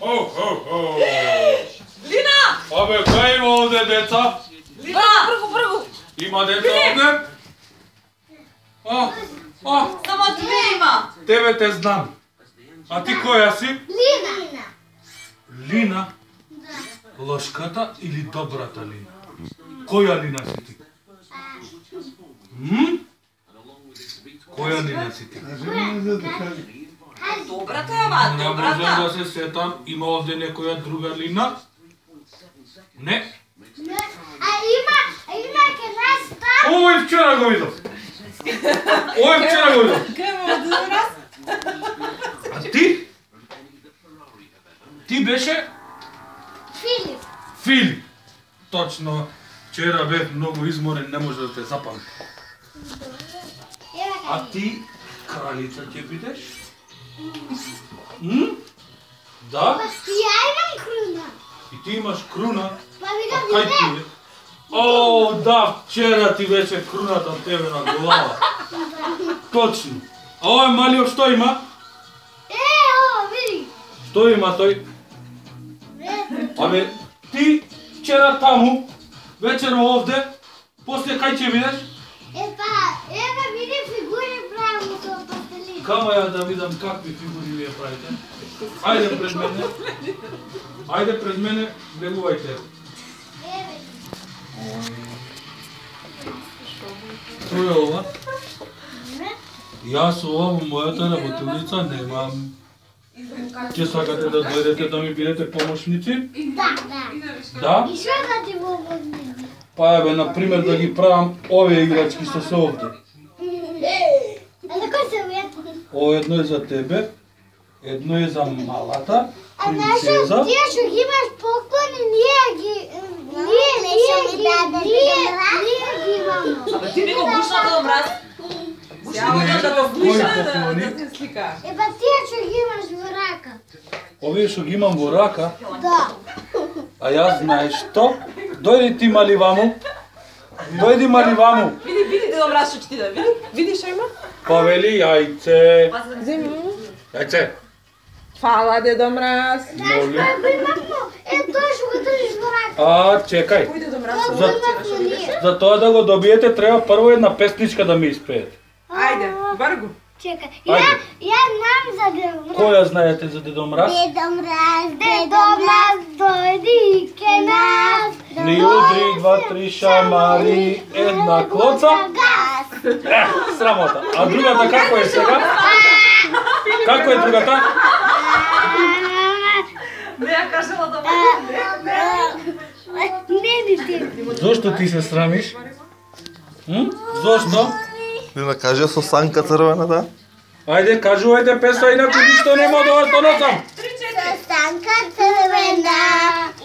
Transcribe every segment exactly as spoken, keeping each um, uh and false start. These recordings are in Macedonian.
О, о, о. Лина! Абе, кај има овде деца? Лина, бргу, бргу. Има деца овде? А, а. Само две има. Тебе те знам. А ти која си? Лина. Лина? Лошката или добрата Лина? Која Лина си ти? М? Која Лина си ти? Добрата, ама, Не добрата. можам да се сетам, има овде некоја друга Лина? Не. А има, има ке нас там. Овој вчера го видов. Овој вчера го видов. Кај ме раз? А ти? Ти беше? Филип. Филип. Точно. Вчера бев многу изморен, не може да те запамти. А ти, кралица ќе бидеш? М? Да? Ја имам круна. И ти имаш круна? Па А видам кај ти видео. е? О, да, вчера ти беше круната тебе на глава. Точно. А овој малиот што има? Е, о, види. Што има тој? Абе, ти вчера таму, вечер овде, после кај ќе видиш? Е, па, еве види фигури правилно со пастелин. Кама ја да видам какви фигури вие правите. Ајде пред мене. Ајде пред мене, влегувајте. Еве. Што е ова? Јас ова во мојата работилница немам. Ќе сакате да дојдете да ми бидете помошници? Да, да. Да? И што да ти во возни? Па еве, например, да ги правам овие играчки што се овде. А за кој се вие? О, едно е за тебе, едно е за малата А знаеш, принцеза. тие што ги имаш поклони, ние ги... Ние, ние ги... Ние, ние ги имаме. Абе, ти не го бушна да мраз. Ја да го бушна да да се слика. Е, па тие што ги имаш во рака. Овие што ги имам во рака, Да. а јас знаеш што? Дојди ти мали ваму. Дојди мали ваму. Види, види да мраз што ќе ти да види. Види што има? Па вели јајце. Земи. Јајце. Фала, Дедо Мраз. Моли. Како имамо? Е, тоа што го држиш во рака. А, чекај. Кој Дедо Мраз? Тоа го имавме ние. За тоа да го добиете треба прво една песничка да ми испеете. Ајде, баргу. Чекај. Ја, Ајде. ја знам за Дедо Мраз. Која знаете за Дедо Мраз? Дедо Мраз, Дедо Мраз, дојди ке нас. Ни удри два, три шамари, една клоца. Газ. Е, срамота. А другата како е сега? Како е другата? Не ја кажала да Не, не ти. Зошто ти се срамиш? М? Зошто? Лина каже со санка црвената. Ајде, кажувајте песна, инаку ништо нема да ја донесам. Станка црвена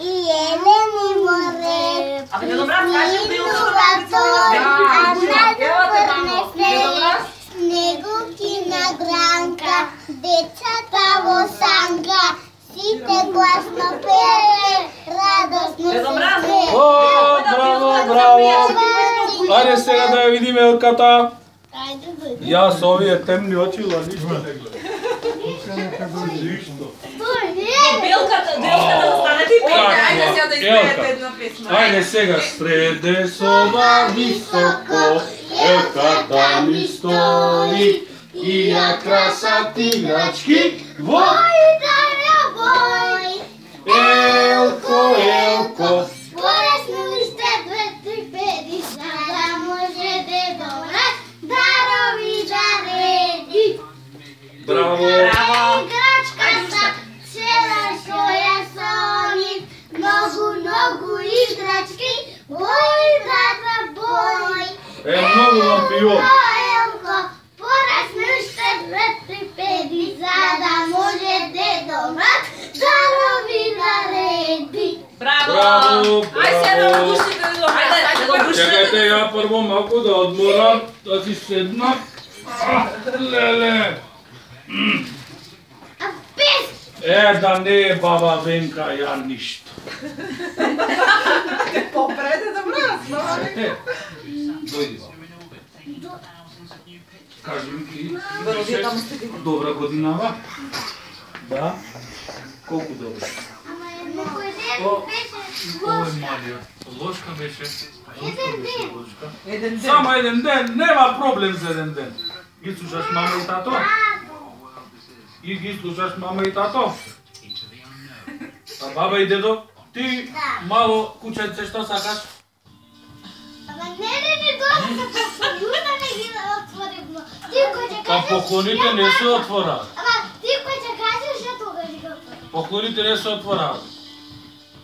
и елени море. Абе, Дедо Мраз, кажи да ја А Евате, мамо. Дедо Мраз. снегуки на гранка, децата во санка, сите гласно пее, радосно Дедо Мраз. О, браво, браво. Ајде сега да ја видиме елката. Ајде, дојди. Јас овие темни очила ништо не гледам. Ништо. Белката, белката да станете и пејте. Ајде сега да испеете Елка. една песна. Ајде сега среде соба високо, елката ми стои и ја красат играчки во Бојдарја бој, елко, елко. поресно уште две три педи, за да може Дедо Мраз дарови да реди. Браво. Браво. Играчката, цела што ја сони, многу, многу играчки, бој, брата, бој. Е, многу вам пио. Елко, порасне уште две три педи, за да може Дедо Мраз дарови да реди. Браво. Браво, Ајде сега да браво. го пуштите, Дедо Мраз. Ајде, да го пуштите. Чекајте ја прво малку да одморам, да си седнам. А, леле. А пес, Е, да не е баба Венка, ја ништо. Попред, Дедо Мраз. Е, дојди. Кажи ми ти. Ивано, вие таму сте били. Добра годинава? Да. Колку добра? Ама некој О, ден беше Ој лош. Марија, ложка беше. Еден ден. Ложка. Еден ден. Само еден ден, нема проблем за еден ден. Ги слушаш мама и тато? И ги слушаш мама и тато? А баба и дедо? Ти мало кученце што сакаш? Ама не, не, не, доста поклоните не ги отворивме. Ти кој ќе Па кажеш... поклоните не се отвораат. Ама ти кој ќе кажеш, ја тогаш ги отворим. Поклоните не се отвораат.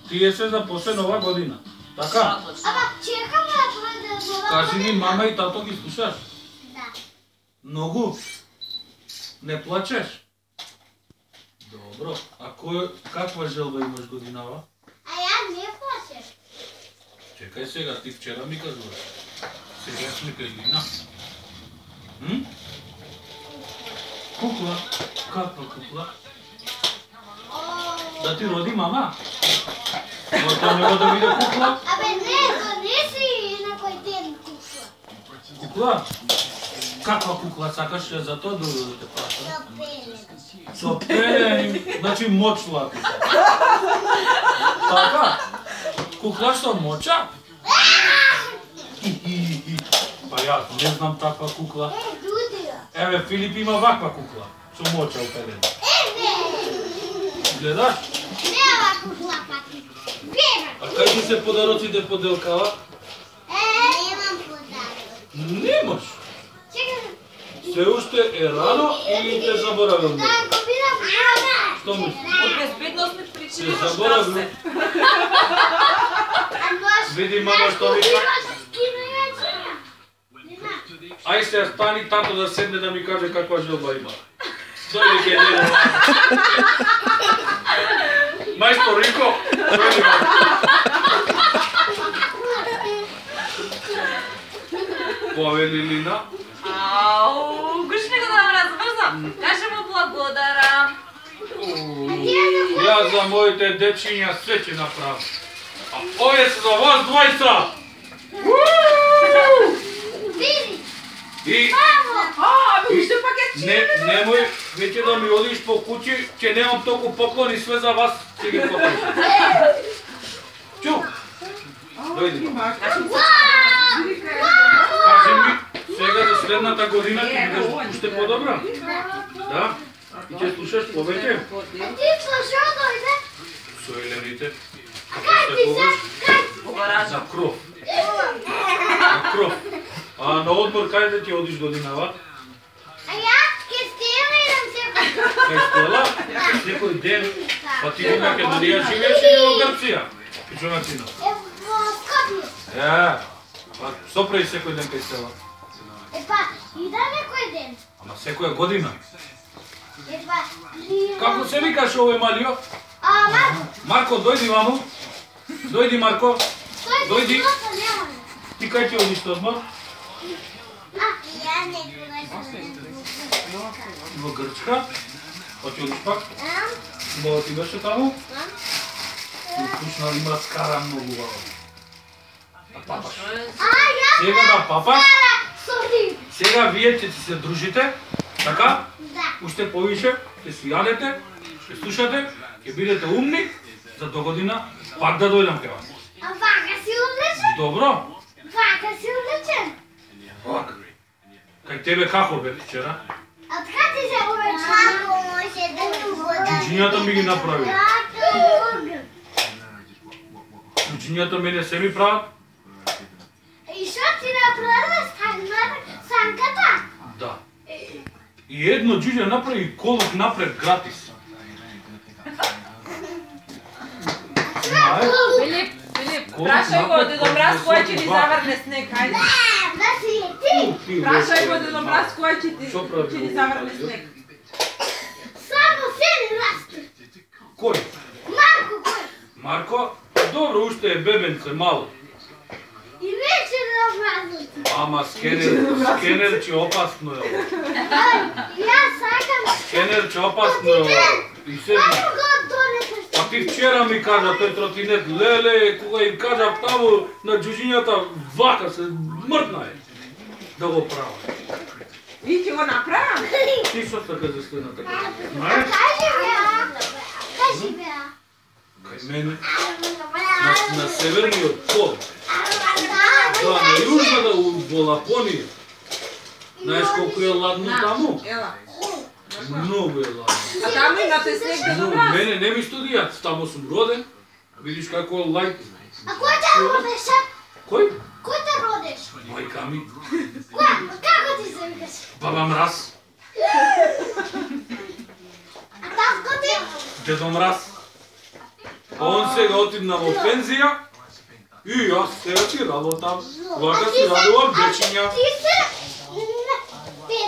Тие се за после нова година. Така? Ама чекам да дојде нова Кажи ми, година. мама и тато ги слушаш? Да. Многу? Не плачеш? Добро. А кој, каква желба имаш годинава? А ја не плачеш. Чекај сега, ти вчера ми кажуваш. Сега сме кај Лина. М? Кукла? Каква кукла? Да ти роди мама? Мојата нема да биде кукла? Абе не, донеси некој ден кукла. Кукла? Каква кукла сакаш за тоа да да те прашам? Со пеле. Со пеле, значи мочло ако сакаш. Така? Кукла со моча? Па јас не знам таква кукла. Е, дудија. Еве, Филип има ваква кукла. Со моча упелена. Еве. Гледаш? Нема кукла пати. Бега. А кај ти се подароците поделкава? Е, немам подарок. Немаш. Чекай. Се уште е рано или те заборавил? Да, го видам мама. Што мислиш? Од безбедносни причини Се во заборавил? штраф се. А можеш... Види мама што вика. Имаш кино и вечера. Нема. Ај се стани тато да седне да ми каже каква желба има. Дојде ке дедо. Мајстор Рико, дојде ма. Повели Лина. Ау, гушни го да ме разбрзам. Каже му благодарам. Јас за моите дечиња се ќе направам. А овие се за вас двајца. Види. И А, бе, уште пакет не, немој веќе да ми одиш по куќи, ќе немам толку поклони, све за вас ќе ги поклонам. Чу. Дојди. Кажи ми, сега за следната година ќе бидеш уште подобра? Да? И ќе слушаш повеќе? Ти слушао дојде? Со елените. Кај ти се? Кај? За кров. За кров. А на одмор кај да ќе одиш годинава? А ја ке стијаме идам секој. Кај Стела? Секој ден. Па ти во Македонија живееш или во Грција? Пичунацина. Е, во Скопје. Е, па што прави секој ден кај Стела? Е, па, идаме кој ден. Ама секоја година. Е, па, идам... Како се викаш овој Малио? А, Марко, Марко, дојди мамо. Дојди Марко. тој Дојди. доста нема. Ти кај ќе одиш на одмор? А, ја не гледам. Во Грчка. Па ќе одиш пак? А? Баба ти беше таму? А? И вкусна има скара многу баба. А папаш? А, ја Сега да папаш? стара сорди. Сега вие ќе си се дружите, така? Да. Уште повише, ќе си јадете, ќе слушате, ќе бидете умни, за до година пак да дојдам кај вас. А вака си одличен? Добро? Вака си одличен. Пак. Кај тебе како бе вчера? А така ти се увече? Како може да ми вода? Чуџињата ми ги направи. Како? Чуџињата мене се ми прават? И шо ти направи санката? Да. И едно џуџе направи колук напред гратис. Знаеш? Филип, Филип, Колку прашај го напред, Дедо Мраз колку кој ќе ни високо заврне снег, ајде. Да си е ти. Прашај го Дедо Мраз кој ќе ти Шо прави ќе ни овој заврне Малио? снег. Само се не расте. Кој? Марко кој? Марко? Добро, уште е бебенце мало. И вече да образуti. Ама скенер, скенер че опасно е. Ја сакам. Скенер че опасно е. И се Мамо го донесеш. А ти вчера ми кажа тој тротинет, леле, кога им кажа таму на џуџињата, вака се мртна е да го прават. И ќе го направам. Ти што сакаш да стои на така? Кажи беа. Кажи беа. Кај мене, на, на северниот пол, да, на Да, јужната во Лапонија. Знаеш колку е ладно таму? Ела. Многу е ладно. А таму имате снег да Но добра. мене не ми студија, таму сум роден. Видиш како е лајт. А кој те родиш? Кој? Кој те родиш? Мајка ми. Кој? Како ти се викаш? Баба Мраз. А татко ти? Дедо Мраз. А он сега отидна во пензија. И јас сега си работам. Вака си радувам дечиња. Ти се... Ти...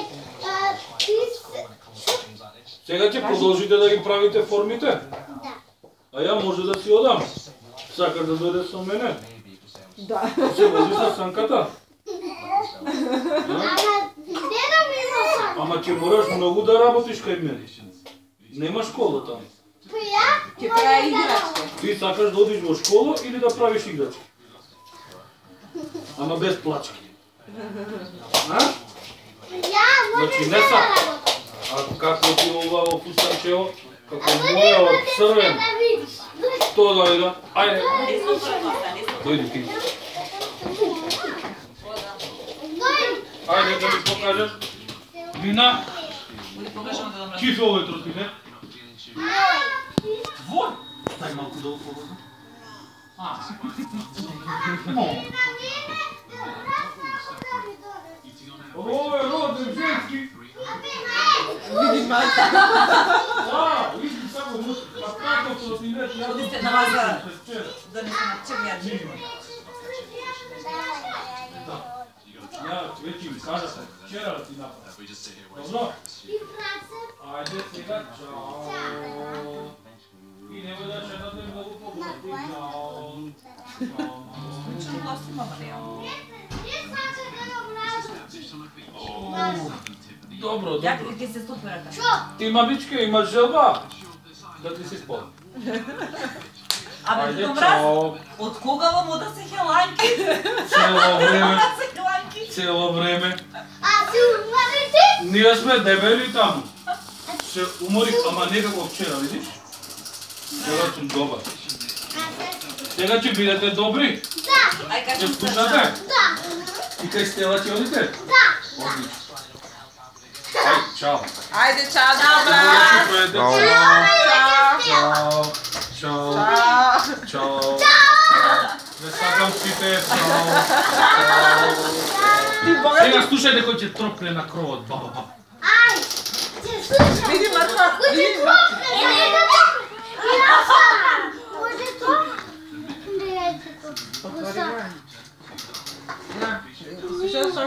а, Ти се... Сега ќе продолжите да ги правите формите. Да. А ја може да си одам. Сакаш да дојдеш со мене? Да. Се вози со санката? Ама, дедо ми има сан. Ама ќе мораш многу да работиш кај мене. Нема школа таму. Па ја? Ќе прави играчки. Ти сакаш да одиш во школа или да правиш играчки? Ама без плачки. А? Ја може Значи, да не са. работам. А како ти ова во фустанчево? Како А то моја не од можеш црвен. да видиш. Што да ида? Ајде, дојди ти. Дојди. Ајде да ми покажеш. Вина. Кифе овој троти, не? Твој? Дај малку да оповодам. А. Мо. Ова е роден женски. Види мајка. А, види само му. А како со синет, јас Одите на базар. вчера. Да не се начевија джима. Ја веќе ми кажа се, вчера ти направи. Добро? Ајде сега, чао. И немој да шетате многу погледи. Чао. Чао. Чум гласи мама не ја. Добро, Ја добро. ќе се стопи рака. Ти мамичке имаш желба? Да ти се спомни. Абе, Ајде, Дедо Мраз, чао. од кога вам ода се хеланки? Цело време, Се хеланки. цело време. А си умрете? Ние сме дебели таму. Се уморих, ама некако вчера, видиш? Сега сум добар. Сега ќе бидете добри. Да, Ај кажи Ќе слушате? да, И кај Стела ќе одите? да. Одлично. Ај, чао. Ајде, чао, добра. Чао. Чао. Чао. Чао. Чао. Не сакам сите. Чао. Ти бога Сега слушајте кој ќе тропне на кровот. Баба, баба. Ај, ќе слушам. Види Марко, Кој ќе види. тропне? Е, да тропне. И јас сакам. Може тропне? Не, ќе тропне. На, слушај, што